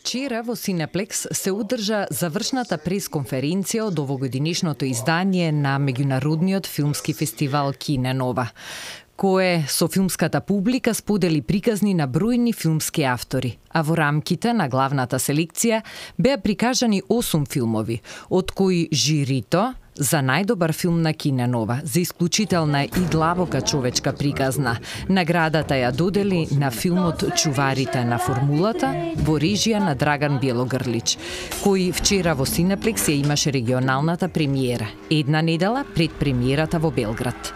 Вчера во Синеплекс се одржа завршната пресконференција од овогодинешното издание на меѓународниот филмски фестивал Кине Нова, кое со филмската публика сподели приказни на бројни филмски автори, а во рамките на главната селекција беа прикажани 8 филмови, од кои жирито за најдобар филм на Кине Нова, за исклучителна и длабока човечка приказна. Наградата ја додели на филмот Чуварите на формулата во режија на Драган Белогрлич, кој вчера во Синеплекс ја имаше регионалната премиера, една недела пред премиерата во Белград.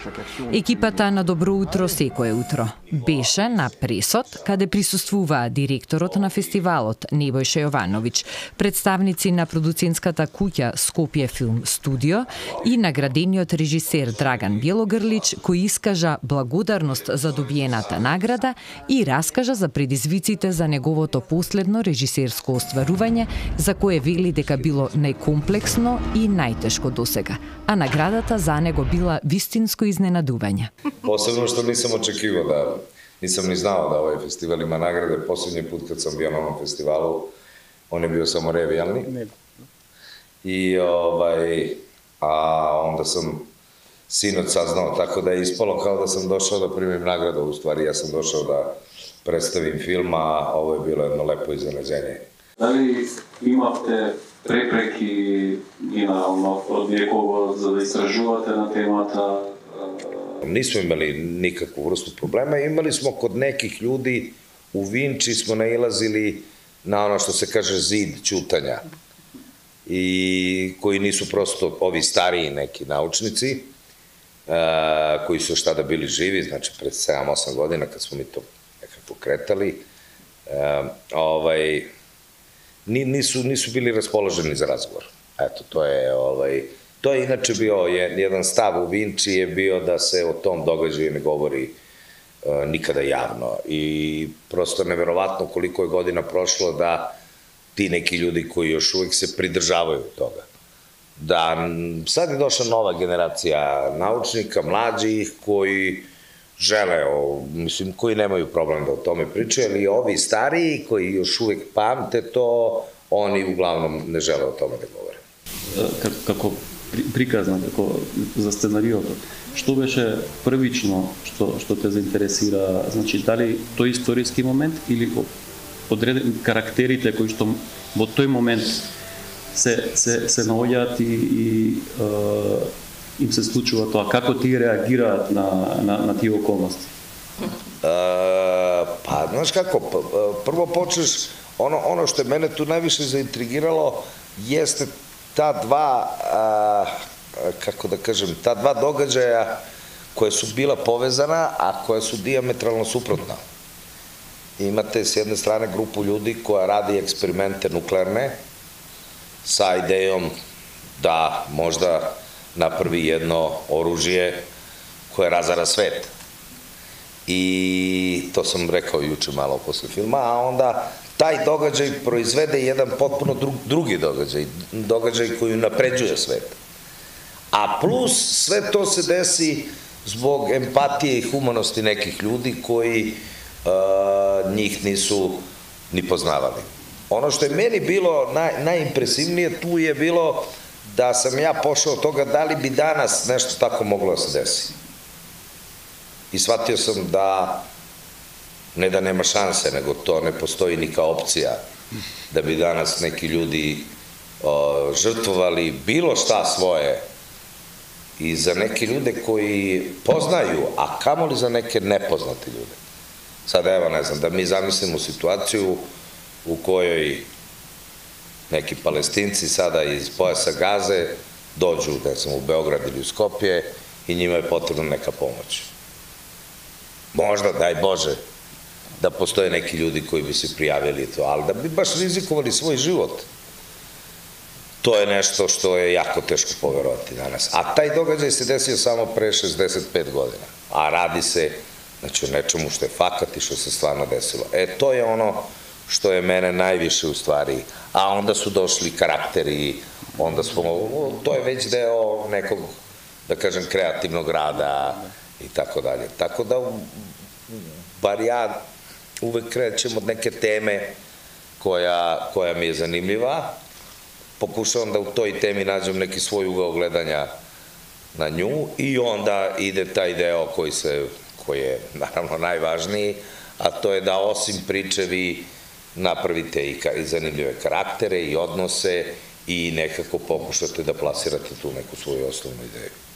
Екипата на Добро утро секое утро беше на пресот, каде присуствуваа директорот на фестивалот Небојша Јовановиќ, представници на продуцентската куќа Скопје Филм Студио и наградениот режисер Драган Белогрлич, кој искажа благодарност за добиената награда и раскажа за предизвиците за неговото последно режисерско остварување, за кое вели дека било најкомплексно и најтешко досега, а наградата за него била вистинско изненадување. Посебно што нисам очекивал нисам ни знал да овој фестивал има награде. Последниот пат кога сам био на овој фестивалу, он е био само ревијални. И онда сам синот сазнал, така да е испало као да сам дошao да примим награда, уствари јас сам дошao да представим филм, а ово е било едно лепо изненадење. Дали имавте препреки и од некого за да истражувате на темата? Нисмо имали никакvu vrstu problema, imali smo kod nekih ljudi u Vinči smo nailazili na ono što se kaže zid ćutanja i koji nisu prosto ovi stariji neki naučnici koji su šta da bili živi, znači pred 7-8 godina kad smo mi to nekako kretali, nisu bili raspoloženi za razgovor. Eto, to je inače bio jedan stav u Vinči je bio da se o tom događaju ne govori nikada javno i prosto neverovatno koliko je godina prošlo da ti neki ljudi koji još uvijek se pridržavaju toga. Da sad je došla nova generacija naučnika, mlađih koji žele, mislim, koji nemaju problem da o tome pričaju, ali ovi stariji koji još uvijek pamte to, oni uglavnom ne žele o tome da govore. Како приказна, како за сценариото, што беше првично што те заинтересира, значи дали тој историски момент или одредени карактерите кои што во тој момент се наоѓаат и им се случува тоа, како тие реагираат на тие околности? Па, знаеш како, прво почнеш, ono što je mene tu najviše zaintrigiralo jeste ta dva, kako da kažem, ta dva događaja koje su bila povezana, a koja su dijametralno suprotna. Imate s jedne strane grupu ljudi koja radi eksperimente nuklearne sa idejom da možda napravi jedno oružje koje razara svet. I to sam rekao juče malo posle filma, a onda taj događaj proizvede jedan potpuno drugi događaj koji napređuje svet. A plus sve to se desi zbog empatije i humanosti nekih ljudi koji njih nisu ni poznavali. Ono što je meni bilo najimpresivnije tu je bilo da sam ja pošao od toga da li bi danas nešto tako moglo da se desi. I shvatio sam da ne da nema šanse, nego to ne postoji ni kao opcija da bi danas neki ljudi žrtvovali bilo šta svoje i za neke ljude koji poznaju, a kamoli za neke nepoznate ljude. Sad evo, ne znam, da mi zamislimo situaciju u kojoj neki Palestinci sada iz pojasa Gaze dođu, ne znam, u Beograd ili u Skopje i njima je potrebna neka pomoć. Možda, daj Bože, da postoje neki ljudi koji bi se prijavili to, ali da bi baš rizikovali svoj život, to je nešto što je jako teško poverovati danas. A taj događaj se desio samo pre 65 godina, a radi se znači o nečemu što je fakat i što se stvarno desilo. To je ono što je mene najviše u stvari, a onda su došli karakteri, onda smo, to je već deo nekog, da kažem, kreativnog rada i tako dalje. Tako da, bar ja uvek krećem od neke teme koja mi je zanimljiva. Pokušavam da u toj temi nađem neki svoj ugao gledanja na nju i onda ide taj deo koji je naravno najvažniji, a to je da osim priče vi napravite i zanimljive karaktere i odnose i nekako pokušate da plasirate tu neku svoju osnovnu ideju.